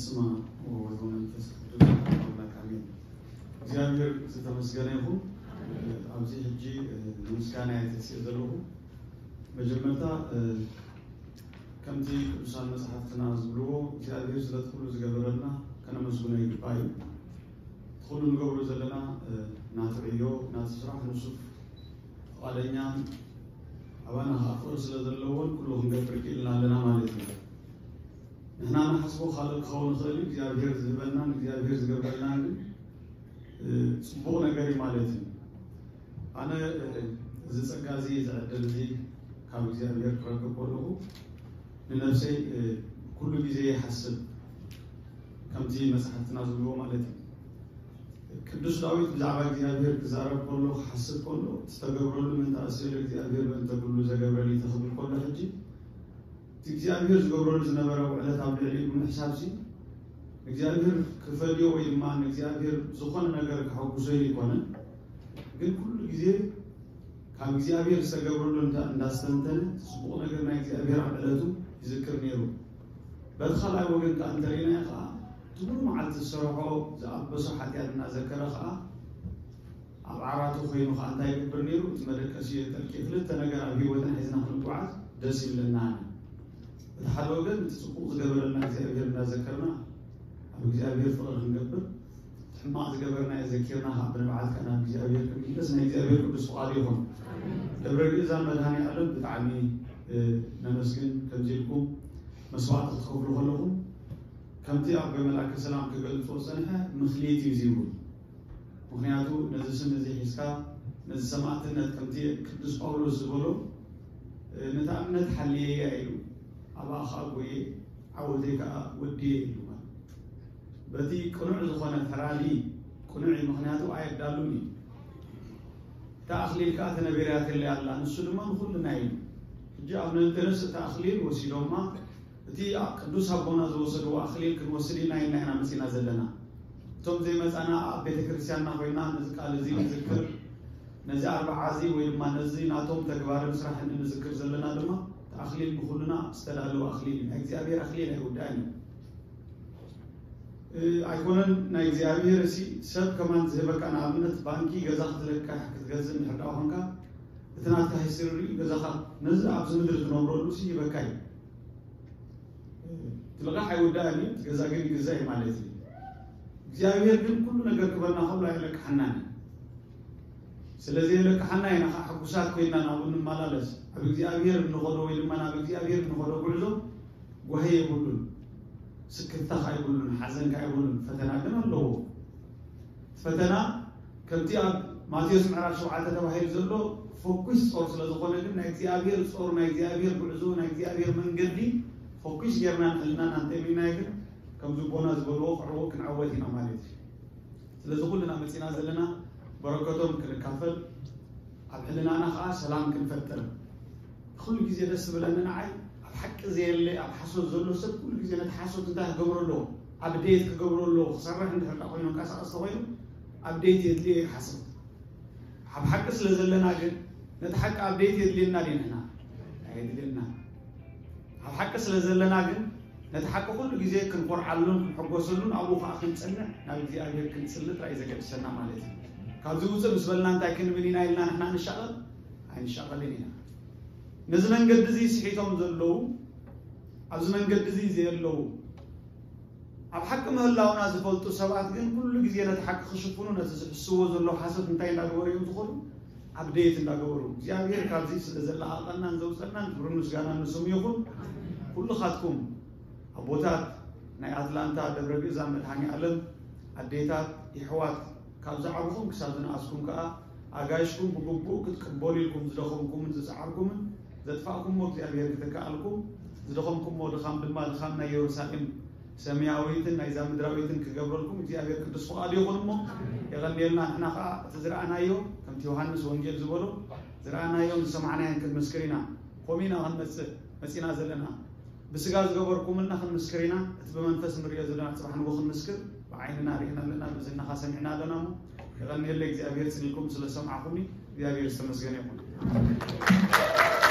ስማ ወወልድ ወመንፈስ ቅዱስ ኣምላክ ኣሜን። እግዚኣብሔር ዝተመስገነ ይኹን። ኣብዚ ሕጂ ንምስጋና እየ ተሲእ ዘለኹ። መጀመርታ ከምቲ ቅዱሳን መጽሓፍትና ዝብልዎ እግዚኣብሔር ስለቲ ኩሉ ዝገበረልና ከነመስግኖ ይግባእ እዩ። እቲ ኩሉ ንገብሮ ዘለና ናቲ ዕዮ ናቲ ስራሕ ንሱ ፍቓደኛን ኣባና ከዓ ፍቕሪ ስለ ዘለዎን ኩሉ ክንገብር ክኢልና ኣለና ማለት እዩ። ንሕና ንሓስቦ ካልእ ክኸውን ይኽእል እዩ እግዚኣብሔር ዝህበናን እግዚኣብሔር ዝገብረልናን ግን ጽቡቕ ነገር እዩ ማለት እዩ። ኣነ እዚ ጸጋ እዚ እዚ ዕድል እዚ ካብ እግዚኣብሔር ክረክብ ከለኹ ንነፍሰይ ኩሉ ግዜ ይሓስብ ከምቲ መጽሓፍትና ዝብልዎ ማለት እዩ። ቅዱስ ዳዊት ብዛዕባ እግዚኣብሔር ክዛረብ ከሎ ክሓስብ ከሎ ዝተገብረሉ ምንታ ኣስለ እግዚኣብሔር በእንተ ኩሉ ዘገብረሊ ተኽብል ከሎ ሕጂ እቲ እግዚኣብሔር ዝገብረሉ ዝነበረ ውዕለት ኣብ ልዕሊኡ ብምሕሳብ ሲ እግዚኣብሔር ክፈልዮ ወይ ድማ ንእግዚኣብሔር ዝኾነ ነገር ክሐጉሶ ኣይኮነን። ግን ኩሉ ግዜ ካብ እግዚኣብሔር ዝተገብረሉ እንዳስተንተነ ጽቡቕ ነገር ናይ እግዚኣብሔር ኣብ ዕለቱ ይዝክር ነይሩ። በቲ ካልኣይ ወገን ከዓ እንተሪእናዮ ከዓ እቲ ሙሉ መዓልቲ ዝሰርሖ ዝኣበሶ ሓጢኣት እናዘከረ ከዓ ኣብ ዓራቱ ኮይኑ ከዓ እንታይ ይገብር ነይሩ? እቲ መደቀሲ የጠልቂ። ክልተ ነገር ኣብ ህይወትና ሒዝና ክንጓዓዝ ደስ ይብለና። እቲ ሓደ ወገን እቲ ጽቡቕ ዝገበረልና እግዚኣብሔር እናዘከርና ኣብ እግዚኣብሔር ፍቕሪ ክንገብር፣ ሕማቕ ዝገበርናዮ ዘኪርና ካብ ብንብዓት ከኣ ናብ እግዚኣብሔር ክንምለስ ናይ እግዚኣብሔር ቅዱስ ፍቓዱ ይኹን። ደብረ ግእዛን መድሃኔ ዓለም ብጣዕሚ ነመስግን። ከምዚ ኢልኩም መስዋዕቲ ክትከፍሉ ከለኹም ከምቲ ኣብ ገመላከ ሰላም ክገልጾ ጸንሐ ምኽሊት እዩ ዝብሉ። ምኽንያቱ ነዚ ስም እዚ ሒዝካ ነዚ ሰማዕትነት ከምቲ ቅዱስ ጳውሎስ ዝበሎ ነታ እምነት ሓልየያ ኢሉ ኣብኣ ከዓ ጎየ ዓወተይ ከዓ ወድየ ኢሉ ማለት በቲ ቅኑዕ ዝኾነ ፈራዲ ቅኑዕ እዩ። ምኽንያቱ ኣየዳሉን እዩ። እታ ኣኽሊል ከዓ ተነቢርያትለይ ኣላ ንሱ ድማ ንኹልና እዩ። ሕጂ ኣብ ነንጠረስ እታ ኣኽሊል ወሲዶማ እቲ ቅዱስ ኣቦና ዝወሰድዎ ኣኽሊል ክንወስድ ኢና ኢልና ኢና መፂና ዘለና። እቶም ዘይመፃና ኣብ ቤተ ክርስቲያንና ኮይና ነዚ ቃል እዚ ንዝክር ነዚ ኣርባዓ እዚ ወይ ድማ ነዚ ናቶም ተግባርን ስራሕን እንዝክር ዘለና ድማ እቲ ኣኽሊል ንኩልና ዝተዳለወ ኣኽሊል እዩ። ናይ እግዚኣብሔር ኣኽሊል ኣይውዳእን እዩ። ኣይኮነን ናይ እግዚኣብሔር እሲ ሰብ ከማን ዝህበካ ንኣብነት ባንኪ ገዛ ክትለቅሕ ክትገዝእ እንድሕር ደኣ ኮንካ እቲ ናትካ ሂስትሪ ሪኡ ገዛኻ ነዚ ኣብዚ ምድሪ ትነብረሉ ሲ ይበካ እዩ። እቲ ልቓሕ ኣይውዳእን እዩ፣ እቲ ገዛ ግን ይግዛእ እዩ ማለት እዩ። እግዚኣብሔር ግን ኩሉ ነገር ክበና ከሎ ኣይለቅሓናን እዩ። ስለዚ የለቅሓና ኢና ከዓ ሕጉሳት ኮይና ናብኡ ንመላለስ። ኣብ እግዚኣብሔር እንኸዶ ወይ ድማ ናብ እግዚኣብሔር እንኸዶ ጉዕዞ ጓሂ የብሉን፣ ስክፍታ ከዓ የብሉን፣ ሓዘን ከዓ የብሉን። ፈተና ግን ኣለዎ። ፈተና ከምቲ ኣብ ማቴዎስ ምዕራፍ ሸውዓተ ተባሂሉ ዘሎ ፈኩስ ጾር ስለ ዝኾነ ግን ናይ እግዚኣብሔር ጾር ናይ እግዚኣብሔር ጉዕዞ ናይ እግዚኣብሔር መንገዲ ፈኩስ ጌርና ንሕልናና እንተሚናዮ ግን ከምዚ ቦና ዝበልዎ ክዕወት ክንዓወት ኢና ማለት እዩ። ስለዚ ኩልና መፂና ዘለና በረከቶም ክንካፈል ኣብ ሕልናና ከዓ ሰላም ክንፈጥር ኩሉ ግዜ ደስ ዝብለኒ ንዓይ ኣብ ሓቂ ዘየለ ኣብ ሓሶት ዘሎ ሰብ ኩሉ ግዜ ነቲ ሓሶት እንታይ ክገብሮ ኣለዎ? ኣብ ደየት ክገብሮ ኣለዎ? ክሰርሕ እንድሕር ኮይኑ ንቀሳቀስ ተኮይኑ ኣብ ደየት የድልዮ ይሓስብ። ኣብ ሓቂ ስለ ዘለና ግን ነቲ ሓቂ ኣብ ደየት የድልየና ድንሕና ኣየድልየና። ኣብ ሓቂ ስለ ዘለና ግን ነቲ ሓቂ ኩሉ ግዜ ክንኮርዓሉን ክንሕጎሰሉን ኣብኡ ከዓ ክንፀንዕ ናብ እግዚኣብሔር ክንፅሊ ጥራይ ዘገድሰና ማለት እዩ። ካብዚ ውፅእ ምስ በልና እንታይ ክንብል ኢና ኢልና ንሕና ንሻቐል ኣይንሻቐልን ኢና። ነዚ መንገዲ እዚ ስሒቶም ዘለዉ ኣብዚ መንገዲ እዚ ዘየለዉ ኣብ ሓቂ ምህላውና ዝፈልጡ ሰባት ግን ኩሉ ግዜ ነቲ ሓቂ ክሽፍኑ ነቲ ዝሕስዎ ዘለዉ ሓሶት እንታይ እንዳገበሩ እዮም ዝኾኑ? ኣብ ደየት እንዳገበሩ እግዚኣብሔር ካብዚ ስለ ዘለኣቐናን ዘውፀናን ክብርን ምስጋናን ንስሙ ይኹን። ኩልኻትኩም ኣቦታት ናይ ኣትላንታ ደብረ ግእዛን መድሃኒ ኣለም ኣዴታት ይሕዋት ካብ ዝዓብኹም ክሳብ ዝነኣስኩም ከዓ ኣጋይሽኩም ብግቡእ ክትቅበሉ ኢልኩም ዝደኸምኩምን ዝፀዓርኩምን ዘጥፋእኩሞ እግዚኣብሔር ክተክኣልኩም ዝደኸምኩሞ ድኻም ድማ ድኻም ናይ የሩሳሌም ሰማያዊትን ናይዛ ምድራዊትን ክገብረልኩም እግዚኣብሔር ቅዱስ ፍቓዱ ይኹን እሞ የቐንየልና። ንሕና ከዓ እቲ ዝረኣናዮ ከምቲ ዮሃንስ ወንጌል ዝበሎ ዝረኣናዮን ዝሰማዕናዮን ክንምስክር ኢና። ከምኡ ኢና ክንመፅእ መፂና ዘለና። ብስጋ ዝገበርኩምልና ክንምስክር ኢና። እቲ ብመንፈስ ንሪኦ ዘለና ፅባሕ ንጎ ክንምስክር ብዓይንና ርኢና ኣለና፣ ብዝናኻ ሰሚዕና ኣለና። እሞ የቐንየለ እግዚኣብሔር ፅሊልኩም ስለ ሰማዕኹምኒ እግዚኣብሔር ዝተመስገነ ይኹን።